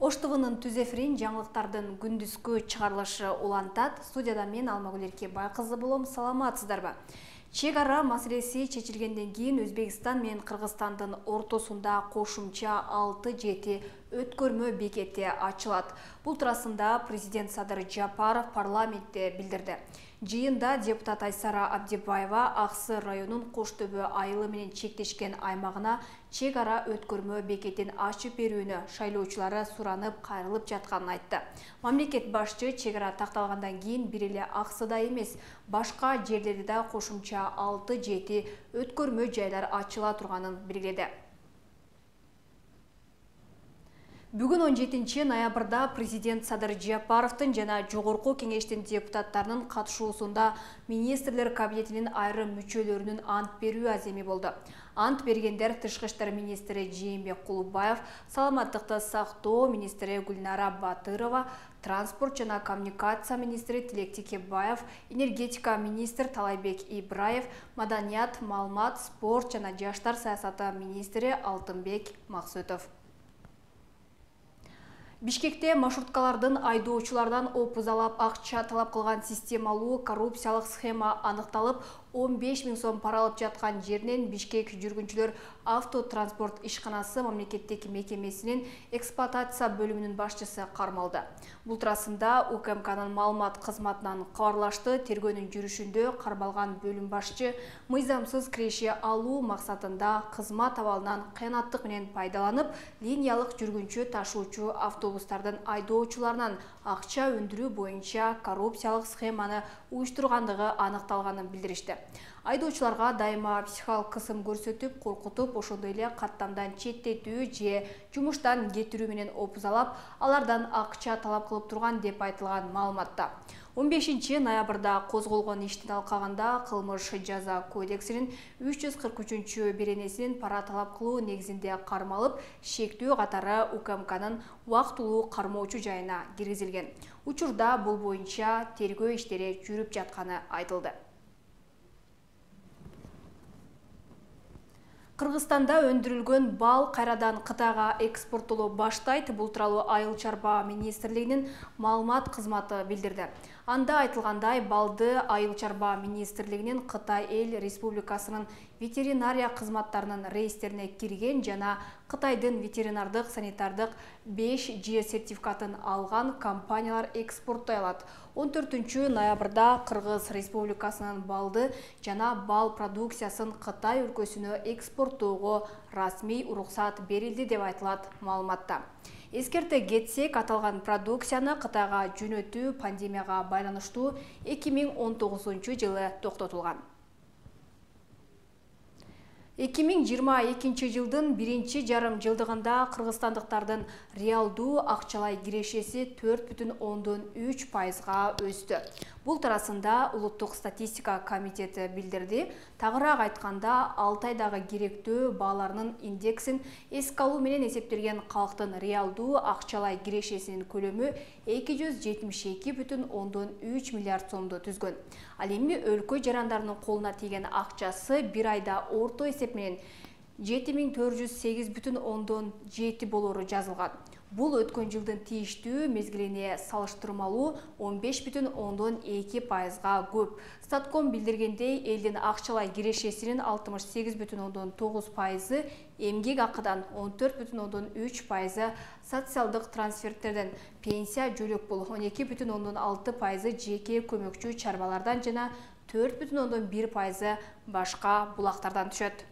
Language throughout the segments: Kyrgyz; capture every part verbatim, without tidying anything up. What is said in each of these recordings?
Ош Т В'нын түз эфирин жаңылыктардын күндүзгү чыгарылышы улантат. Студияда мен Алмагүл Эркебай кызы болом. Саламатсыздарбы? Чек ара маселеси чечилгенден кийин Өзбекстан менен Кыргызстандын ортосунда кошумча алты жети өткөрмө бекети ачылат. Бул туурасында президент Садыр Жапаров парламентте билдирди. Жыйында депутат Айсара Абдибаева Аксы районунун Кош Төбө айылы менен чектешкен аймагына чек ара өткөрмө бекетин ачып берүүнү шайлоочулары суранып кайрылып жатканын айтты. Мамлекет башчы чек ара такталгандан кийин бир эле Аксыда эмес, башка жерлерде да кошумча алты жети өткөрмө жайлар ачыла турганын белгиледи. Бүгүн он жетинчи ноябрда президент Садыр Жапаровдун жана жогорку кеңештин депутаттарынын катышуусунда министрлер кабинетинин айрым мүчөлөрүнүн ант берүү аземи болду. Ант бергендер тышкы иштер министри Жээнбек Кулубаев, саламаттыкты сактоо министри Гүлнара Батырова, транспорт жана коммуникация министри Тилек Текебаев, энергетика министр Талайбек Ибраев, маданият, маалымат, спорт жана жаштар саясаты министри Алтынбек Максутов. Бишкекте маршруткалардын айдоочулардан опузалап акча талап кылган системалуу коррупциялык схема аныкталып, он беш миң сом пара алып жаткан жеринен Бишкек жүргүнчүлөр автотранспорт ишканасы мамлекеттик мекемесинин эксплуатация бөлүмүнүн башчысы кармалды. Бул туурасында У К М К'нын маалымат кызматынан кабарлашты. Тергөөнүн жүрүшүндө кармалган бөлүм башчы мыйзамсыз киреше алуу максатында кызмат абалынан кыянаттык менен пайдаланып, линиялык жүргүнчү ташуучу автобустардын айдоочуларынан акча өндүрүү боюнча коррупциялык схеманы уюштургандыгы аныкталганын билдиришти. Айдоочуларга дайыма психикалык кысым көрсөтүп, коркутуп, ошондой эле каттамдан четтетүү же жумуштан кетирүү менен опузалап, алардан акча талап кылып турган деп айтылган маалыматта. он бешинчи ноябрда козголгон иштин алкагында кылмыш жаза кодексинин үч жүз кырк үчүнчү беренесинин пара талап кылуу негизинде кармалып, шектүү катары У К М К'нын убактылуу кармоочу жайына киргизилген. Учурда бул боюнча тергөө иштери жүрүп жатканы айтылды. Кыргызстанда өндүрүлгөн бал кайрадан Кытайга экспорттоло баштайт. Бул тууралуу Айыл чарба министрлигинин маалымат кызматы билдирди. Анда айтылгандай, балды Айыл чарба министрлигинин Кытай Эл Республикасынын ветеринария кызматтарынын рейстерине кирген жана Кытайдын ветеринардык санитардык беш Ж сертификатын алган компаниялар экспорттой алат. он төртүнчү ноябрда Кыргыз Республикасынын балды жана бал продукциясын Кытай өлкөсүнө экспорттоого расмий уруксат берилди деп айтылат маалыматта. Эскерте кетсек, аталган продукцияны Кытайга жөнөтүү пандемияга байланыштуу эки миң он тогузунчу жылы токтотулган. эки миң жыйырма экинчи жылдын биринчи жарым жылдыгында кыргызстандыктардын реалдуу акчалай кирешеси төрт бүтүн ондон үч пайызга өстү. Бул туурасында Улуттук статистика комитети билдирди. Тагыраак айтканда, алты айдагы керектөө бааларынын индексин эске алуу менен эсептелген калктын реалдуу акчалай кирешесинин көлөмү эки жүз жетимиш эки бүтүн ондон үч миллиард сомду түзгөн. Ал эми өлкө жарандарынын колуна тийген акчасы бир айда орто эсеп менен жети миң төрт жүз сегиз бүтүн ондон жети болору жазылган. Бул өткөн жылдын тийиштүү мезгилине салыштырмалуу он беш бүтүн ондон эки пайызга көп. Статком билдиргендей, элдин акчалай кирешесинин алтымыш сегиз бүтүн ондон тогуз пайызы, эмгек акыдан он төрт бүтүн ондон үч пайызы, социалдык трансферттерден, пенсия жөлөк бул он эки бүтүн ондон алты пайызы жеке көмөкчү чарбалардан жана төрт бүтүн ондон бир пайызы башка булактардан түшөт.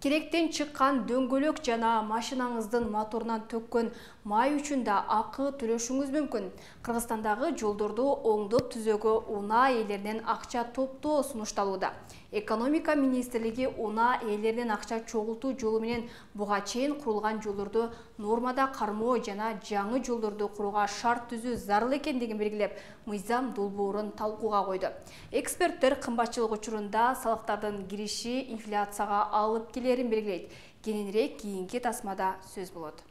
Керектен чыккан дөңгөлөк жана машинаңыздын моторунан төккөн май үчүн да акы төлөшүңүз мүмкүн. Кыргызстандагы жолдорду оңдоп түзөөгө унаа ээлеринен акча топтоо сунушталууда. Экономика министрлиги унаа ээлеринен акча чогултуу жолу менен буга чейин курулган жолдорду нормада кармоо жана жаңы жолдорду курууга шарт түзүү зарыл экендигин белгилеп, мыйзам долбоорун талкууга койду. Эксперттер кымбатчылык учурунда салыктардын кириши инфляцияга алып келерин белгилейт. Кененирээк кийинки тасмада сөз болот.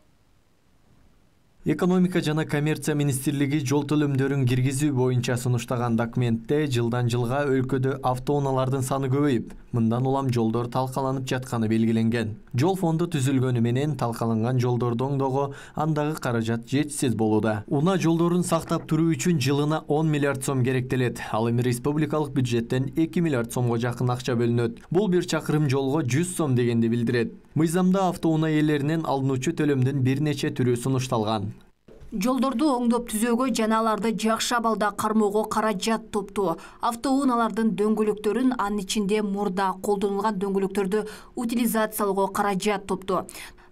Экономика жана коммерция министрлиги жол төлөмдөрүн киргизүү боюнча сунуштаган документте жылдан жылга өлкөдө автоунаалардын саны көбөйүп, мындан улам жолдор талкаланып жатканы белгиленген. Жол фонду түзүлгөнү менен талкаланган жолдорду оңдоого андагы каражат жетишсиз болууда. Унаа жолдорун сактап туруу үчүн жылына он миллиард сом керектелет. Ал эми республикалык бюджеттен эки миллиард сомго жакын акча бөлүнөт. Бул бир чакырым жолго жүз сом дегенди билдирет. Мыйзамда автоунаа ээлеринен алынуучу төлөмдүн бир нече түрү сунушталган. Жолдорду оңдоп түзөөгө жана аларды жакшы абалда кармоого каражат топтоо, автоунаалардын дөңгөлөктөрүн, анын ичинде мурда колдонулган дөңгөлөктөрдү утилизациялоого каражат топтоо,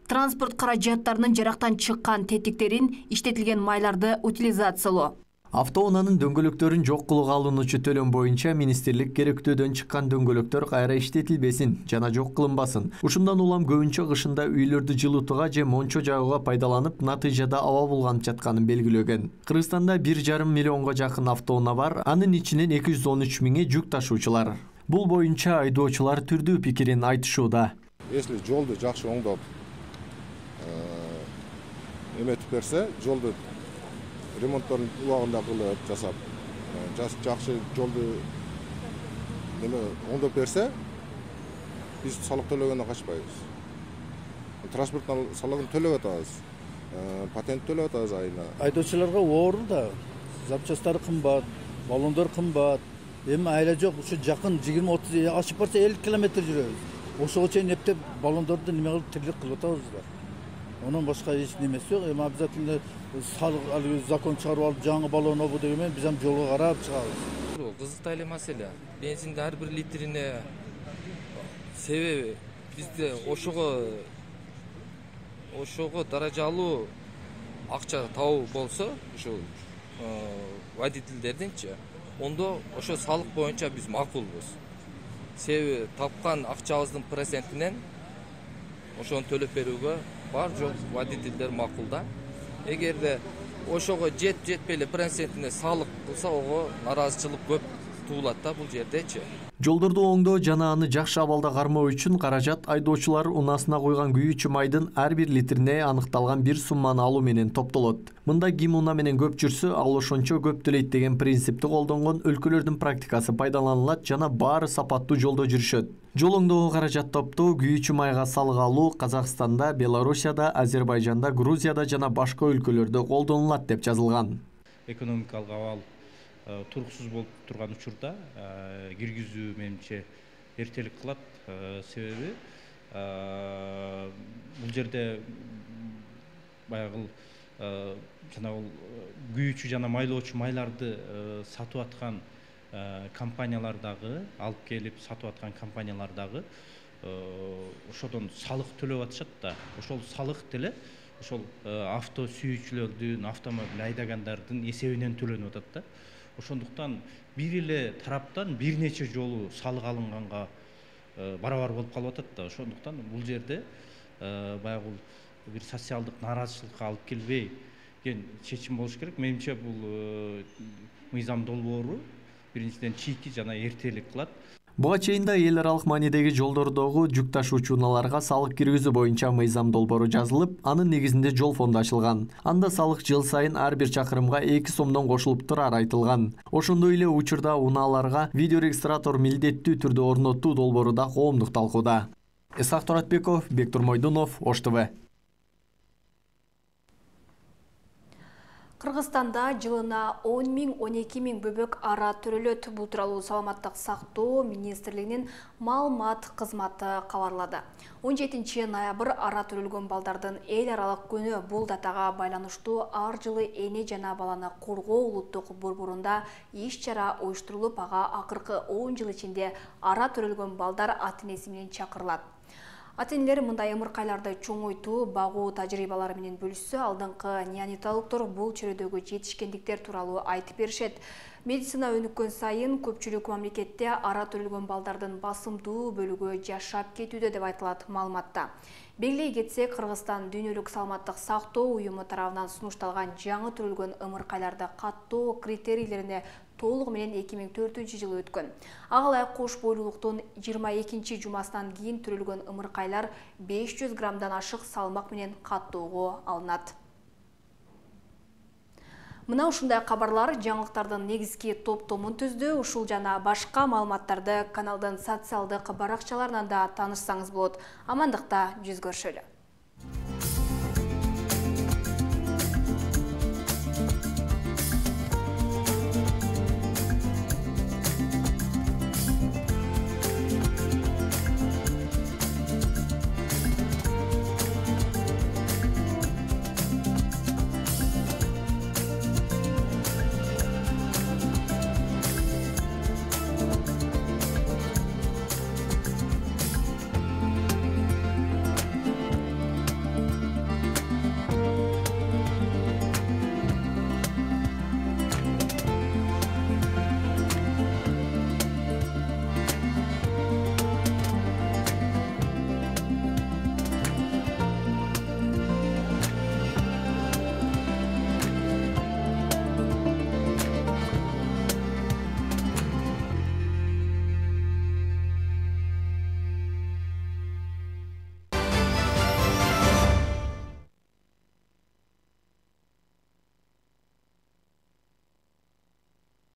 транспорт каражаттарынын жарактан чыккан тетиктерин, иштетилген майларды утилизациялоо. Автоунаанын дөңгөлөктөрүн жок кылууга алынуучу төлөм боюнча министрлик керектөөдөн чыккан дөңгөлөктөр кайра иштетилбесин жана жок кылынбасын. Ушундан улам көбүнчө кышында үйлөрдү жылытууга же мончо жагууга пайдаланып, натыйжада аба булганып жатканын белгилеген. Кыргызстанда бир жарым миллионго жакын автоунаа бар, анын ичинен эки жүз он үч миңи жүк ташуучулар. Бул боюнча айдоочулар түрдүү пикирин айтышууда. Если жолду жакшы оңдоп эметип берсе, жолду ремонтторун убагында кылып жасап, жакшы жолду неме оңдоп берсе, биз салык төлөгөндөн качпайбыз. Транспорттун салыгын төлөп атабыз, патент төлөп атабыз айына. Айдоочуларга оор да, запчасттары кымбат, баллондор кымбат. Эми айла жок, ушу жакын жыйырма отуз ашып барса элүү километр жүрөбүз. Ошого чейин эптеп баллондорду неме кылып тирлик кылып атабыз. Онун башка эч немеси жок. Эми обязательно салык закон чыгарып алып жаңы баллон обу деген менен биз ам жолго карап чыгабыз. Кызыктуу эле маселе. Бензиндин ар бир литрине себеби бизде ошого ошого даражалуу акча табуу болсо, ошо водительдердинчи, ондо ошо салык боюнча биз макулбуз. Себеби тапкан акчабыздын процентинен ошону төлөп берүүгө бар жок водительдер макул да. Эгерде ошого жет жетпей эле процентине салык кылса, ого нараазычылык көп туулат да бул жердечи. Жолдорду оңдоо жана аны жакшы абалда кармоо үчүн каражат айдоочулар унаасына койгон күйүүчү майдын ар бир литрине аныкталган бир сумманы алуу менен топтолот. Мында ким унаа менен көп жүрсө, ал ошончо көп төлөйт деген принципти колдонгон өлкөлөрдүн практикасы пайдаланылат жана баары сапаттуу жолдо жүрүшөт. Жол оңдоого каражат топтоо, күйүүчү майга салык алуу Казакстанда, Белоруссияда, Азербайжанда, Грузияда жана башка өлкөлөрдө колдонулат деп жазылган. Экономикалык абал туруксуз болуп турган учурда киргизүү менимче эртелик кылат. Себеби бул жерде баягы жана бул күйүүчү жана майлоочу майларды сатып аткан компаниялар дагы, алып келип сатып аткан компаниялар дагы ошодон салык төлөп атышат да. Ошол салык деле ошол авто сүйүүчүлөрдүн, автомобиль айдагандардын эсебинен төлөнүп атат да. Ошондуктан бир эле тараптан бир нече жолу салык алынганга барабар болуп калып атат да. Ошондуктан бул жерде баягы бир социалдык нааразычылыкка алып келбей ген чечим болуш керек. Менимче бул мыйзам долбоору биринчиден чийки жана эртелик кылат. Буга чейин да эл аралык маанидеги жолдордогу жүк ташуучу унааларга салык киргизүү боюнча мыйзам долбоору жазылып, анын негизинде жол фонду ачылган. Анда салык жыл сайын ар бир чакырымга эки сомдон кошулуп турары айтылган. Ошондой эле учурда унааларга видеорегистратор милдеттүү түрдө орнотуу долбоору да коомдук талкууда. Исак Торатбеков, Бектур Мойдунов, Ош ТВ. Кыргызстанда жылына он миң он эки миң бөбөк ара төрөлөт. Бул тууралуу Саламаттык сактоо министрлигинин маалымат кызматы кабарлады. он жетинчи ноябрь ара төрөлгөн балдардын эл аралык күнү. Бул датага байланыштуу ар жылы эне жана баланы коргоо улуттук борборунда иш-чара уюштурулуп, ага акыркы он жыл ичинде ара төрөлгөн балдар ата-энеси менен чакырылат. Ата-энелер мындай ымыркайларды чоңойтуу, багуу тажрыйбалары менен бөлүшсө, алдыңкы неонатологдор бул чөйрөдөгү жетишкендиктер тууралуу айтып беришет. Медицина өнүккөн сайын көпчүлүк мамлекетте ара төрөлгөн балдардын басымдуу бөлүгү жашап кетүүдө деп айтылат маалыматта. Белгилей кетсек, Кыргызстан дүйнөлүк саламаттык сактоо уюму тарабынан сунушталган жаңы төрөлгөн ымыркайларды каттоо критерийлерине толугу менен эки миң төртүнчү жылы өткөн. Ага ылайык кош бойлуулуктун жыйырма экинчи жумасынан кийин төрөлгөн ымыркайлар беш жүз граммдан ашык салмак менен каттоого алынат. Мына ушундай кабарлар жаңылыктардын негизги топтомун түздү. Ушул жана башка маалыматтарды каналдын социалдык баракчаларынан да таанышсаңыз болот. Амандыкта жүз көрүшөлү.